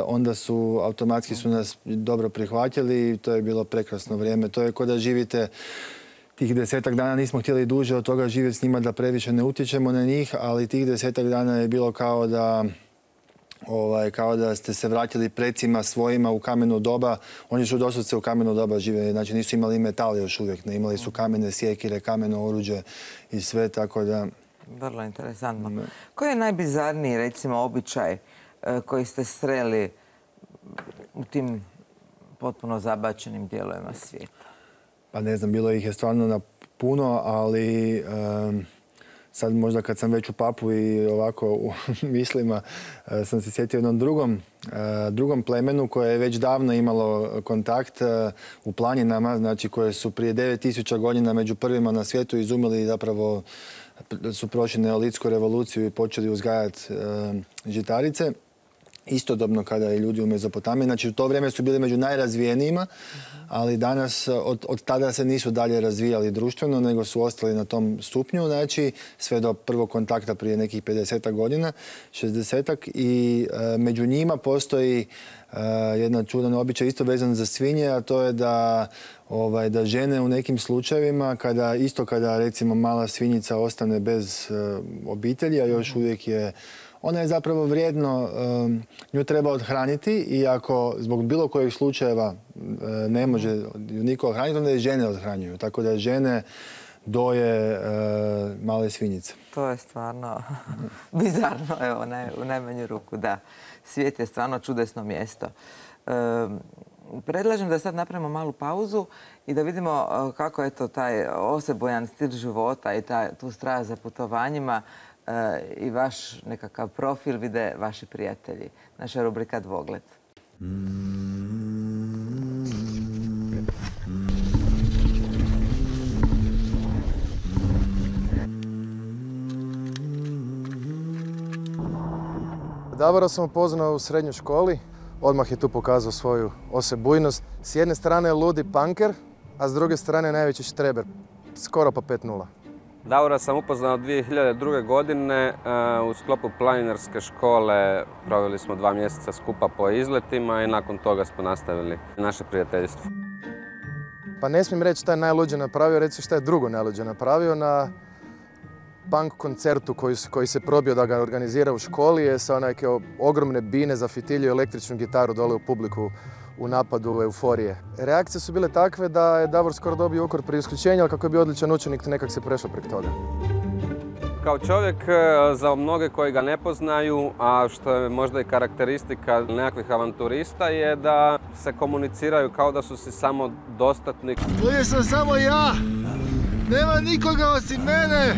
onda su automatski su nas dobro prihvatili i to je bilo prekrasno vrijeme. To je kao da živite tih 10-ak dana, nismo htjeli duže od toga živjeti s njima da previše ne utječemo na njih, ali tih 10-ak dana je bilo kao da ste se vratili precima svojima u kameno doba. Oni su doslovce u kameno doba živjeli, znači nisu imali metal još uvijek, ne, imali su kamene sjekire, kameno oruđe i sve, tako da...
Vrlo interesantno. Koji je najbizarniji, recimo, običaj koji ste sreli u tim potpuno zabačenim dijelovima svijeta?
Pa ne znam, bilo ih je stvarno na puno, ali sad možda kad sam već u Papu i ovako u mislima sam se sjetio jednom drugom plemenu koje je već davno imalo kontakt u planinama, znači koje su prije 9000 godina među prvima na svijetu izumili, zapravo su prošli neolitsku revoluciju i počeli uzgajati žitarice. Istodobno kada je ljudi u Mezopotamiji. Znači u to vrijeme su bili među najrazvijenijima, ali danas od tada se nisu dalje razvijali društveno, nego su ostali na tom stupnju, znači sve do prvog kontakta prije nekih 50 godina, 60-ak. I među njima postoji jedan čudan običaj isto vezan za svinje, a to je da žene u nekim slučajevima, kada recimo mala svinjica ostane bez obitelji, a još uvijek ona je zapravo vrijedno, nju treba odhraniti i ako zbog bilo kojeg slučajeva ne može ju niko odhraniti, onda je žene odhranjuju. Tako da žene doje male svinjice.
To je stvarno bizarno, evo, u najmanju ruku, da. Svijet je stvarno čudesno mjesto. Predlažem da sad napravimo malu pauzu i da vidimo kako je to taj osebojan stil života i tu strast za putovanjima i vaš nekakav profil vide vaši prijatelji. Naša rubrika Dvogled.
Davora sam upoznao u srednjoj školi. Odmah je tu pokazao svoju osebujnost. S jedne strane je ludi punker, a s druge strane najveći štreber. Skoro pa 5-0.
Davora sam upoznao 2002. godine u sklopu planinarske škole. Proveli smo 2 mjeseca skupa po izletima i nakon toga smo nastavili naše prijateljstvo.
Pa ne smijem reći šta je najluđe napravio, reći šta je drugo najluđe napravio. Na punk koncertu koji se probio da ga organizira u školi je sa neke ogromne bine zafitilio električnu gitaru dole u publiku u napadu euforije. Reakcije su bile takve da je Davor skoro dobio ukor pri isključenju, ali kako je bio odličan učenik, nekak se prešao prek toga.
Kao čovjek, za mnoge koji ga ne poznaju, a što je možda i karakteristika nekakvih avanturista, je da se komuniciraju kao da su si samo dostatni.
Ovdje sam samo ja, nema nikoga osim mene.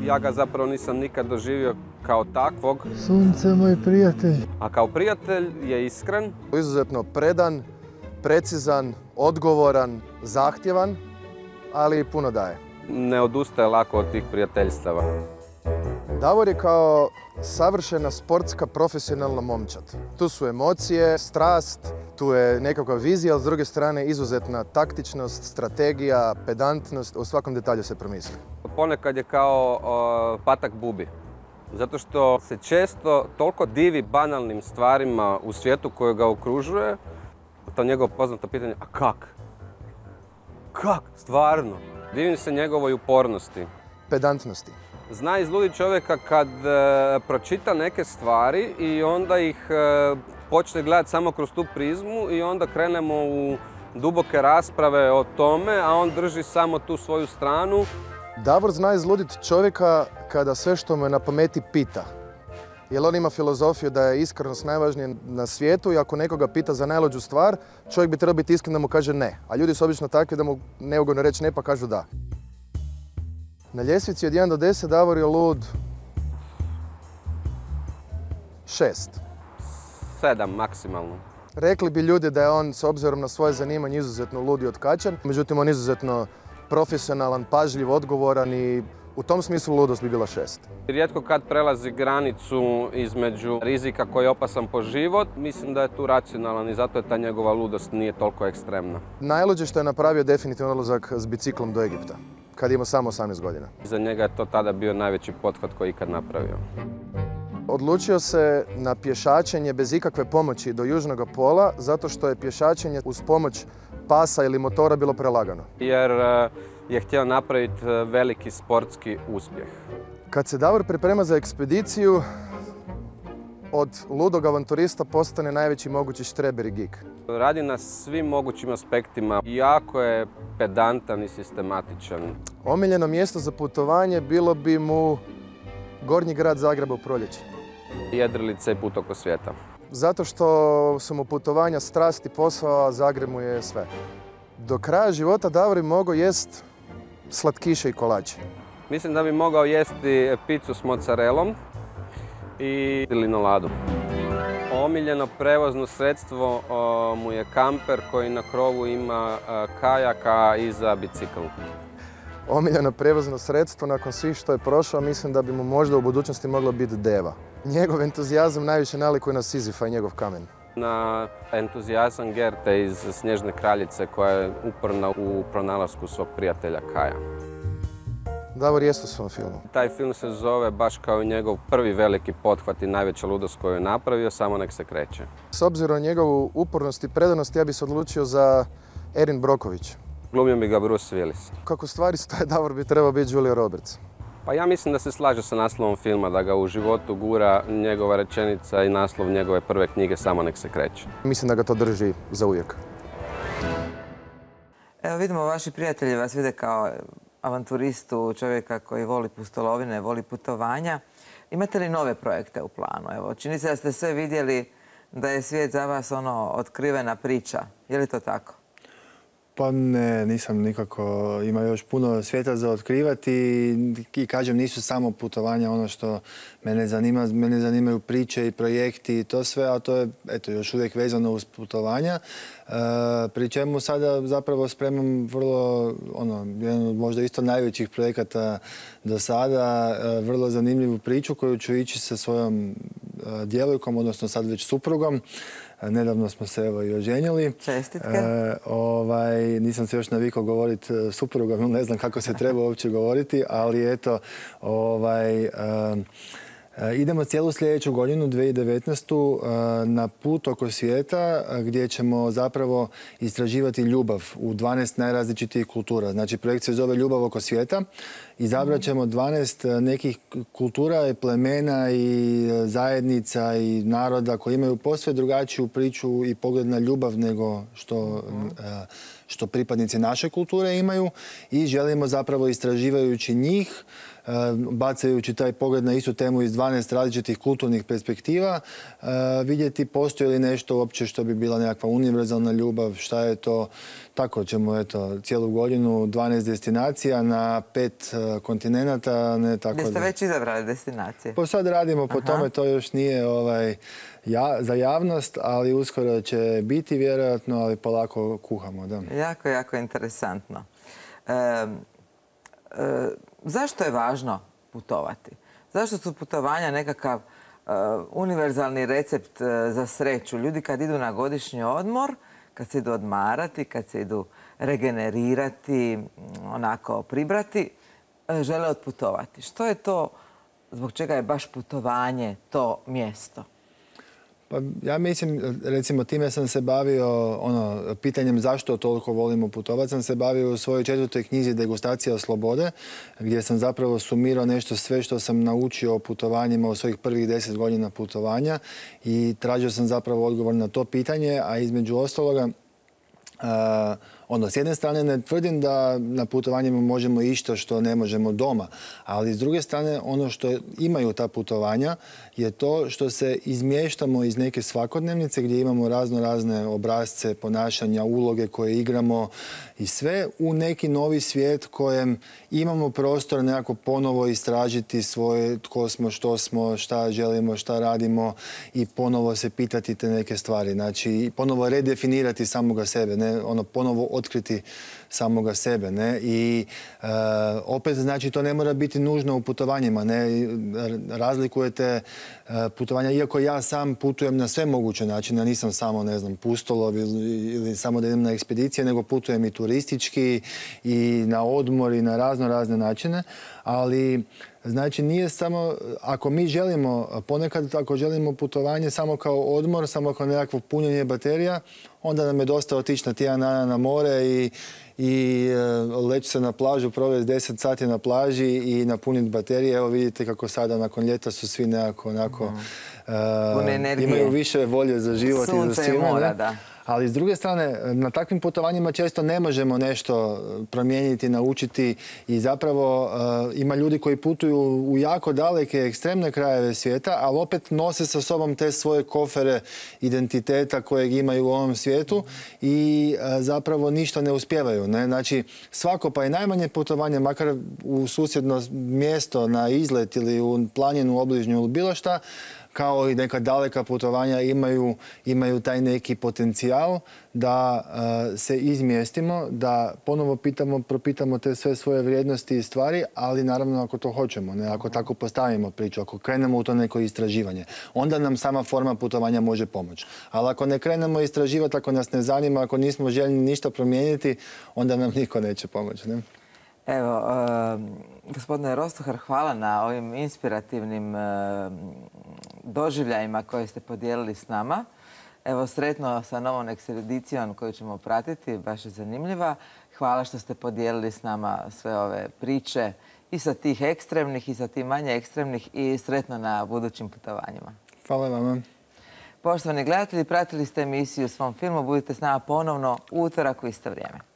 Ja ga zapravo nisam nikad doživio kao takvog.
Sunce, moj prijatelj.
A kao prijatelj je iskren.
Izuzetno predan, precizan, odgovoran, zahtjevan, ali i puno daje.
Ne odustaje lako od tih prijateljstava.
Davor je kao savršena sportska profesionalna momčad. Tu su emocije, strast, tu je nekakva vizija, ali s druge strane izuzetna taktičnost, strategija, pedantnost, u svakom detalju se promisli.
Ponekad je kao patak bubi. Zato što se često toliko divi banalnim stvarima u svijetu koji ga okružuje. To njegovo poznato pitanje, a kak? Kak? Stvarno? Divim se njegovoj upornosti.
Pedantnosti.
Zna izluditi čovjeka kad pročita neke stvari i onda ih počne gledati samo kroz tu prizmu i onda krenemo u duboke rasprave o tome, a on drži samo tu svoju stranu.
Davor zna izluditi čovjeka kada sve što mu je na pameti pita. Jer on ima filozofiju da je iskrenost najvažnija na svijetu i ako nekoga pita za najluđu stvar, čovjek bi trebao biti iskren da mu kaže ne. A ljudi su obično takvi da mu neugodno reći ne pa kažu da. Na ljestvici od 1 do 10 Davor je lud 6.
7 maksimalno.
Rekli bi ljudi da je on s obzirom na svoje zanimanje izuzetno lud i otkačan. Međutim, on je izuzetno profesionalan, pažljiv, odgovoran i u tom smislu ludost bi bila 6.
Rijetko kad prelazi granicu između rizika koji je opasan po život, mislim da je tu racionalan i zato je ta njegova ludost nije toliko ekstremna.
Najluđe što je napravio definitivno odlazak s biciklom do Egipta, kad ima samo 18 godina.
Za njega je to tada bio najveći pothvat koji je ikad napravio.
Odlučio se na pješačenje bez ikakve pomoći do južnog pola, zato što je pješačenje uz pomoć pasa ili motora bilo prelagano.
Jer je htio napraviti veliki sportski uspjeh.
Kad se Davor priprema za ekspediciju, od ludog avanturista postane najveći mogući štreber i geek.
Radi na svim mogućim aspektima. Jako je pedantan i sistematičan.
Omiljeno mjesto za putovanje bilo bi mu Gornji grad Zagreba u proljeće.
Jedrilice i put oko svijeta.
Zato što su mu putovanja strast i posao, a Zagreb mu je sve. Do kraja života Davor bi mogao jest slatkiše i kolače.
Mislim da bi mogao jesti picu s mozzarellom i linoladu. Omiljeno prevozno sredstvo mu je kamper koji na krovu ima kajak, a iza bicikl.
Omiljeno prevozno sredstvo nakon svih što je prošao, mislim da bi mu možda u budućnosti moglo biti deva. Njegov entuzijazam najviše nalikuje na Sizifa i njegov kamen.
Na entuzijazam Gerte iz Snježne kraljice koja je uporna u pronalasku svog prijatelja Kaja.
Davor jest u svom filmu.
Taj film se zove baš kao njegov prvi veliki pothvat i najveća ludost koju je napravio, Samo nek se kreće.
S obzirom na njegovu upornost i predanost, ja bi se odlučio za Erin Brockovich.
Glumio bi ga Bruce Willis.
Kako stvari stoje, Davor bi trebao biti Julia Roberts.
Pa ja mislim da se slaže sa naslovom filma, da ga u životu gura njegova rečenica i naslov njegove prve knjige Samo nek se kreće.
Mislim da ga to drži za uvijek.
Evo vidimo, vaši prijatelji vas vide kao avanturistu, čovjeka koji voli pustolovine, voli putovanja. Imate li nove projekte u planu? Evo, čini se da ste sve vidjeli da je svijet za vas otkrivena priča. Je li to tako?
Pa ne, nisam nikako. Ima još puno svijeta za otkrivati i kažem, nisu samo putovanja ono što mene zanima. Mene zanimaju priče i projekti i to sve, a to je još uvijek vezano uz putovanja. Pri čemu sada zapravo spremam vrlo, jedan od možda isto najvećih projekata do sada, vrlo zanimljivu priču koju ću ići sa svojom djevojkom, odnosno sad već suprugom. Nedavno smo se i oženjeli.
Čestitke.
Nisam se još navikao govoriti suprugom, ne znam kako se treba uopće govoriti, ali eto, idemo cijelu sljedeću godinu, 2019. Na put oko svijeta gdje ćemo zapravo istraživati ljubav u 12 najrazličitijih kultura. Znači, projekt se zove Ljubav oko svijeta. Izabrat ćemo 12 nekih kultura i plemena i zajednica i naroda koji imaju posve drugačiju priču i pogled na ljubav nego što pripadnici naše kulture imaju i želimo zapravo istraživajući njih, bacajući taj pogled na istu temu iz 12 različitih kulturnih perspektiva, vidjeti postoji li nešto uopće što bi bila nekakva univerzalna ljubav, šta je to. Tako ćemo, cijelu godinu 12 destinacija na 5 kontinenata.
Gdje ste već izabrali destinacije?
Pa sad radimo po tome, to još nije za javnost, ali uskoro će biti vjerojatno, ali polako kuhamo. Da.
Jako, jako interesantno. Zašto je važno putovati? Zašto su putovanja nekakav univerzalni recept za sreću? Ljudi kad idu na godišnji odmor, kad se idu odmarati, kad se idu regenerirati, onako pribrati, žele otputovati. Što je to, zbog čega je baš putovanje to mjesto?
Pa ja mislim, recimo, time sam se bavio pitanjem zašto toliko volimo putovati. Sam se bavio u svojoj 4. knjizi Degustacija slobode, gdje sam zapravo sumirao nešto sve što sam naučio o putovanjima u svojih prvih 10 godina putovanja i tražio sam zapravo odgovor na to pitanje, a između ostaloga s jedne strane ne tvrdim da na putovanjima možemo išta što ne možemo doma, ali s druge strane ono što imaju ta putovanja je to što se izmještamo iz neke svakodnevnice gdje imamo razne obrasce, ponašanja, uloge koje igramo i sve u neki novi svijet kojem imamo prostor nekako ponovo istražiti svoje tko smo, što smo, šta želimo, šta radimo i ponovo se pitati te neke stvari. Znači, ponovo redefinirati samoga sebe, ne ponovo otkriti samoga sebe. Ne? I opet, znači, to ne mora biti nužno u putovanjima. Ne? Razlikujete putovanja, iako ja sam putujem na sve moguće načine, nisam samo, ne znam, pustolov ili samo da idem na ekspedicije, nego putujem i turistički i na odmor i na razne načine, ali znači nije samo, ako mi želimo, ponekad ako želimo putovanje samo kao odmor, samo kao nekakvo punjenje baterija, onda nam je dosta otići na tjedan dana na more i leći se na plažu, provesti 10 sati na plaži i napuniti baterije. Evo vidite kako sada nakon ljeta su svi nekako onako
imaju
više volje za život i za svima.
Sunce i mora, da.
Ali s druge strane, na takvim putovanjima često ne možemo nešto promijeniti, naučiti i zapravo ima ljudi koji putuju u jako daleke, ekstremne krajeve svijeta, ali opet nose sa sobom te svoje kofere identiteta kojeg imaju u ovom svijetu i zapravo ništa ne uspijevaju. Ne? Znači, svako pa i najmanje putovanje, makar u susjedno mjesto, na izlet ili u planinu obližnju ili bilo šta, kao i neka daleka putovanja imaju taj neki potencijal da se izmjestimo, da ponovo propitamo te sve svoje vrijednosti i stvari, ali naravno ako to hoćemo, ne? Ako tako postavimo priču, ako krenemo u to neko istraživanje, onda nam sama forma putovanja može pomoći. Ali ako ne krenemo istraživati, ako nas ne zanima, ako nismo željni ništa promijeniti, onda nam niko neće pomoći. Ne?
Evo, gospodine Rostuhar, hvala na ovim inspirativnim doživljajima koje ste podijelili s nama. Evo, sretno sa novom ekspedicijom koju ćemo pratiti, baš je zanimljiva. Hvala što ste podijelili s nama sve ove priče i sa tih ekstremnih i sa tih manje ekstremnih i sretno na budućim putovanjima.
Hvala vama.
Poštovani gledatelji, pratili ste emisiju Svom filmu. Budite s nama ponovno u utorak u isto vrijeme.